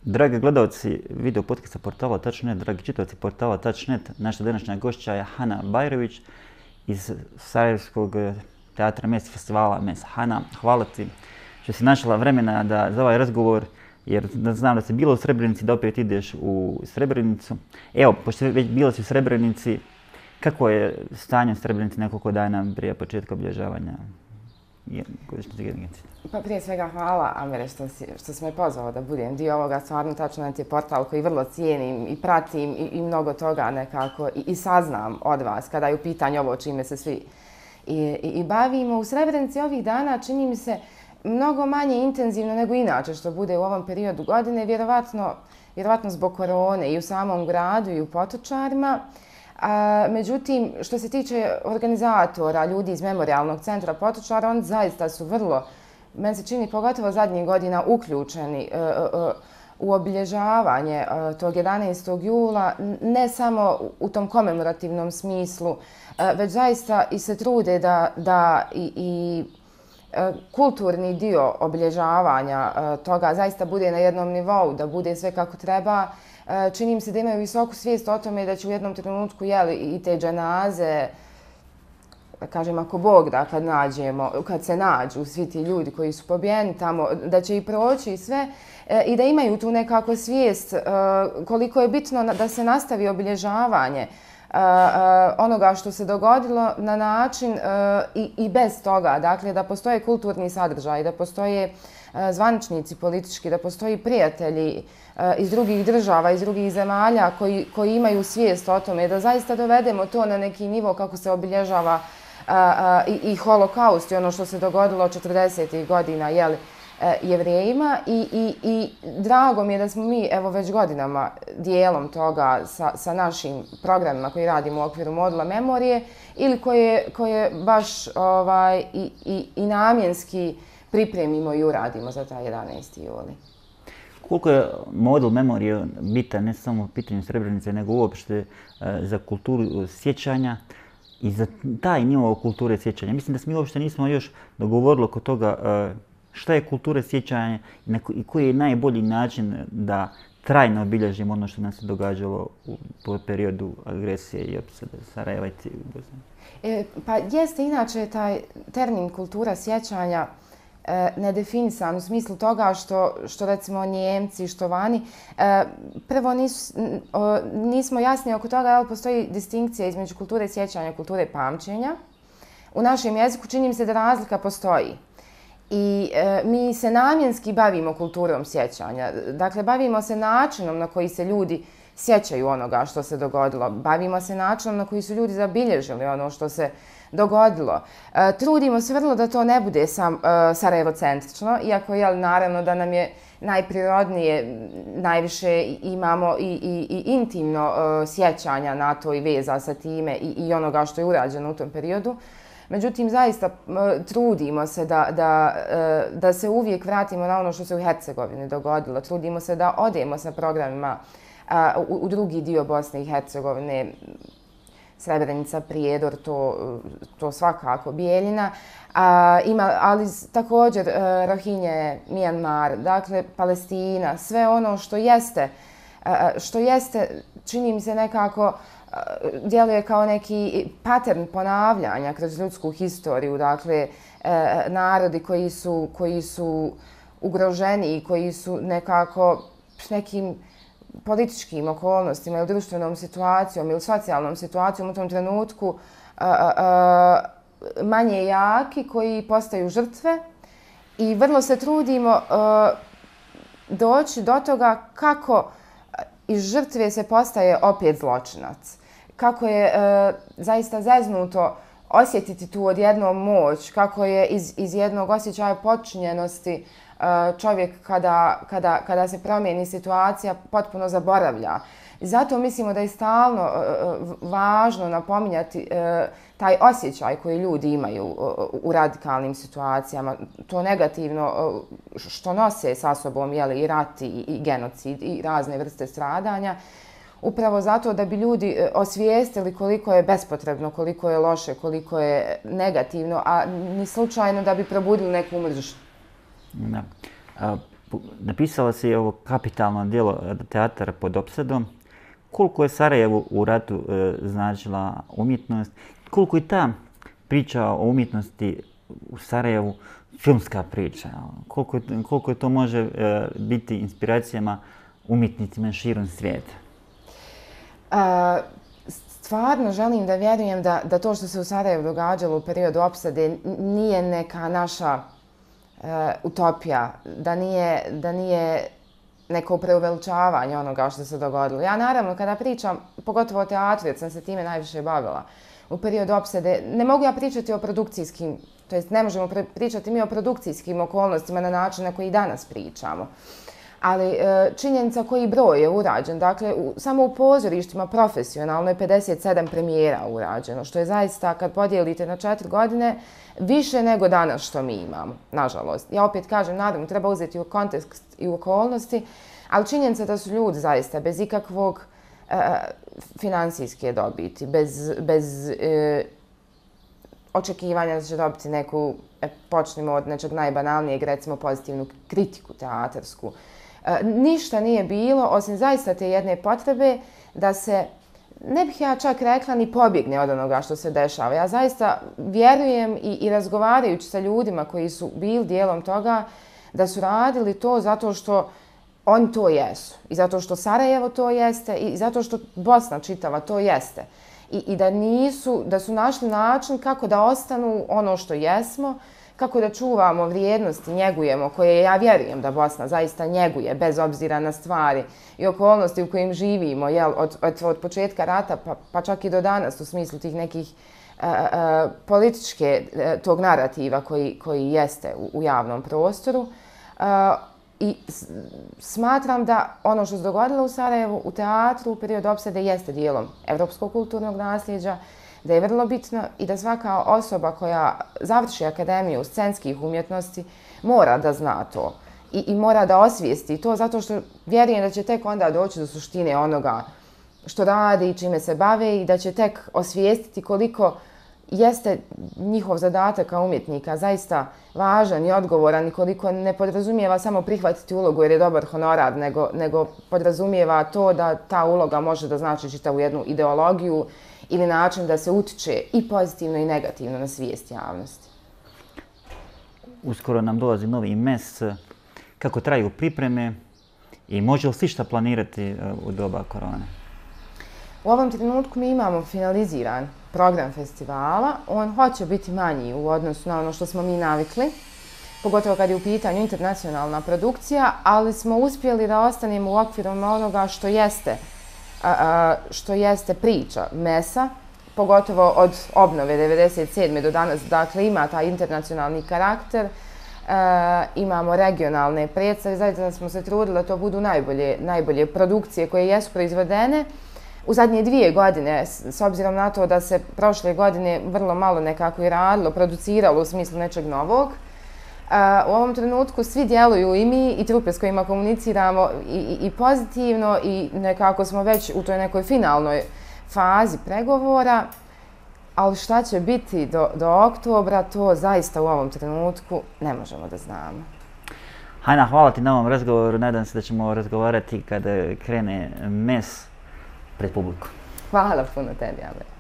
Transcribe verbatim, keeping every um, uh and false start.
Dragi gledalci video podcasta portala tačka net, dragi čitavci portala tačka net, naša današnja gošća je Hana Bajrović iz Sarajevskog teatra Mes festivala Mes. Hana, hvala ti što si našla vremena da, za ovaj razgovor, jer znam da si bila u Srebrenici, da opet ideš u Srebrenicu. Evo, pošto već bila si u Srebrenici, kako je stanje u Srebrenici nekoliko dana prije početka obilježavanja godišnjice genocida? Pa prije svega hvala, Amire, što si, što si me pozvao da budem dio ovoga. Stvarno, tačno net je portal koji vrlo cijenim i pratim i, i mnogo toga nekako i, i saznam od vas kada je u pitanju ovo čime se svi i, i, i bavimo. U Srebrenici ovih dana čini mi se mnogo manje intenzivno nego inače što bude u ovom periodu godine, vjerovatno, vjerovatno zbog korone i u samom gradu i u Potočarima. A, međutim, što se tiče organizatora, ljudi iz Memorijalnog centra Potočara, oni zaista su vrlo, meni se čini pogotovo zadnjih godina, uključeni uh, uh, u obilježavanje uh, tog jedanaestog jula, ne samo u tom komemorativnom smislu, uh, već zaista i se trude da, da i, i uh, kulturni dio obilježavanja uh, toga zaista bude na jednom nivou, da bude sve kako treba. Čini mi se da imaju visoku svijest o tome da će u jednom trenutku jeli, i te dženaze, da kažem ako Bog da, kad, nađemo, kad se nađu svi ti ljudi koji su pobijeni tamo, da će i proći i sve i da imaju tu nekako svijest koliko je bitno da se nastavi obilježavanje onoga što se dogodilo na način i, i bez toga. Dakle, da postoje kulturni sadržaj, da postoje zvaničnici politički, da postoji prijatelji iz drugih država, iz drugih zemalja koji, koji imaju svijest o tome, da zaista dovedemo to na neki nivo kako se obilježava a, a, i, i holokaust i ono što se dogodilo četrdesetih godina jel, Jevrejima i, i, i drago mi je da smo mi evo već godinama dijelom toga sa, sa našim programima koji radimo u okviru modula memorije ili koje, koje baš ovaj, i, i, i namjenski pripremimo i uradimo za taj jedanaesti juli. Koliko je modul memorije bitan ne samo u pitanju Srebrenice, nego uopšte za kulturu sjećanja i za taj nivo kulture sjećanja? Mislim da se mi uopšte nismo još dogovorili oko toga šta je kultura sjećanja i koji je najbolji način da trajno obilježimo ono što nam se događalo u periodu agresije i opsade Sarajeva i Bosne. E, pa jeste inače taj termin kultura sjećanja nedefinisan u smislu toga što, što recimo Njemci, što vani, prvo nisu, nismo jasni oko toga, ali postoji distinkcija između kulture sjećanja i kulture pamćenja. U našem jeziku čini mi se da razlika postoji. I e, mi se namjenski bavimo kulturom sjećanja. Dakle, bavimo se načinom na koji se ljudi sjećaju onoga što se dogodilo. Bavimo se načinom na koji su ljudi zabilježili ono što se dogodilo. E, trudimo se vrlo da to ne bude sam e, Sarajevo-centrično, iako je naravno da nam je najprirodnije, najviše imamo i, i, i intimno e, sjećanja na to i veza sa time i, i onoga što je urađeno u tom periodu. Međutim, zaista trudimo se da, da, da se uvijek vratimo na ono što se u Hercegovini dogodilo. Trudimo se da odemo sa programima u, u drugi dio Bosne i Hercegovine, Srebrenica, Prijedor, to, to svakako, Bijeljina, a, ima, ali također Rohinje, Mijanmar, dakle Palestina, sve ono što jeste, što jeste, čini mi se nekako, djeluje kao neki pattern ponavljanja kroz ljudsku historiju, dakle, e, narodi koji su, koji su ugroženi i koji su nekako s nekim političkim okolnostima ili društvenom situacijom ili socijalnom situacijom u tom trenutku a, a, a, manje jaki, koji postaju žrtve i vrlo se trudimo a, doći do toga kako iz žrtve se postaje opet zločinac. Kako je e, zaista zeznuto osjetiti tu odjednom moć, kako je iz, iz jednog osjećaja počinjenosti e, čovjek kada, kada, kada se promijeni situacija potpuno zaboravlja. I zato mislimo da je stalno e, važno napominjati e, taj osjećaj koji ljudi imaju e, u radikalnim situacijama, to negativno e, što nose sa sobom jeli, i rat i, i genocid i razne vrste stradanja. Upravo zato da bi ljudi osvijestili koliko je bespotrebno, koliko je loše, koliko je negativno, a ni slučajno da bi probudili neku mržnju. Da. A, napisala si ovo kapitalno djelo Teatar pod opsadom. Koliko je Sarajevu u ratu e, značila umjetnost? Koliko je ta priča o umjetnosti u Sarajevu filmska priča? Koliko, koliko to može e, biti inspiracijama umjetnicima širom svijeta? A, stvarno želim da vjerujem da, da to što se u Sarajevu događalo u periodu opsade nije neka naša e, utopija, da nije, da nije neko preuveličavanje onoga što se dogodilo. Ja naravno kada pričam, pogotovo o teatru, jer sam se time najviše bavila, u periodu opsade, ne mogu ja pričati o produkcijskim, to jest ne možemo pričati mi o produkcijskim okolnostima na način na koji danas pričamo. Ali činjenica koji broj je urađen, dakle u, samo u pozorištima profesionalno je pedeset sedam premijera urađeno, što je zaista kad podijelite na četiri godine više nego danas što mi imamo, nažalost. Ja opet kažem, naravno treba uzeti u kontekst i u okolnosti, ali činjenica da su ljudi zaista bez ikakvog e, finansijske dobiti, bez, bez e, očekivanja da će dobiti neku, e, počnemo od nečeg najbanalnijeg, recimo pozitivnu kritiku teatarsku. E, ništa nije bilo, osim zaista te jedne potrebe da se, ne bih ja čak rekla, ni pobjegne od onoga što se dešava. Ja zaista vjerujem i, i razgovarajući sa ljudima koji su bili dijelom toga, da su radili to zato što oni to jesu. I zato što Sarajevo to jeste i zato što Bosna čitava to jeste. I, i da nisu, da su našli način kako da ostanu ono što jesmo, kako da čuvamo vrijednosti, njegujemo, koje ja vjerujem da Bosna zaista njeguje, bez obzira na stvari i okolnosti u kojim živimo, jel, od, od, od početka rata pa, pa čak i do danas u smislu tih nekih uh, uh, političke uh, tog narativa koji, koji jeste u, u javnom prostoru. Uh, I smatram da ono što se dogodilo u Sarajevu, u teatru, u periodu opsade, jeste dijelom evropskog kulturnog nasljeđa, da je vrlo bitno i da svaka osoba koja završi akademiju scenskih umjetnosti mora da zna to i, i mora da osvijesti to, zato što vjerujem da će tek onda doći do suštine onoga što rade i čime se bave i da će tek osvijestiti koliko jeste njihov zadatak kao umjetnika zaista važan i odgovoran i koliko ne podrazumijeva samo prihvatiti ulogu jer je dobar honorar, nego, nego podrazumijeva to da ta uloga može da znači čitavu jednu ideologiju ili način da se utiče i pozitivno i negativno na svijest javnosti. Uskoro nam dolazi novi mes. Kako traju pripreme i može li se šta planirati u doba korone? U ovom trenutku mi imamo finaliziran program festivala. On hoće biti manji u odnosu na ono što smo mi navikli, pogotovo kad je u pitanju internacionalna produkcija, ali smo uspjeli da ostanemo u okviru onoga što jeste, a, a, što jeste priča mesa, pogotovo od obnove devedeset sedme do danas. Dakle, ima taj internacionalni karakter, e, imamo regionalne predstave, zaista smo se trudili da to budu najbolje, najbolje produkcije koje jesu proizvedene. U zadnje dvije godine, s obzirom na to da se prošle godine vrlo malo nekako i radilo, produciralo u smislu nečeg novog, u ovom trenutku svi djeluju, i mi i trupe s kojima komuniciramo, i, i, i pozitivno, i nekako smo već u toj nekoj finalnoj fazi pregovora, ali šta će biti do, do oktobra, to zaista u ovom trenutku ne možemo da znamo. Hajna, hvala ti na ovom razgovoru. Nadam se da ćemo razgovarati kada krene mes pred publiku. Hvala puno tebi, Amber.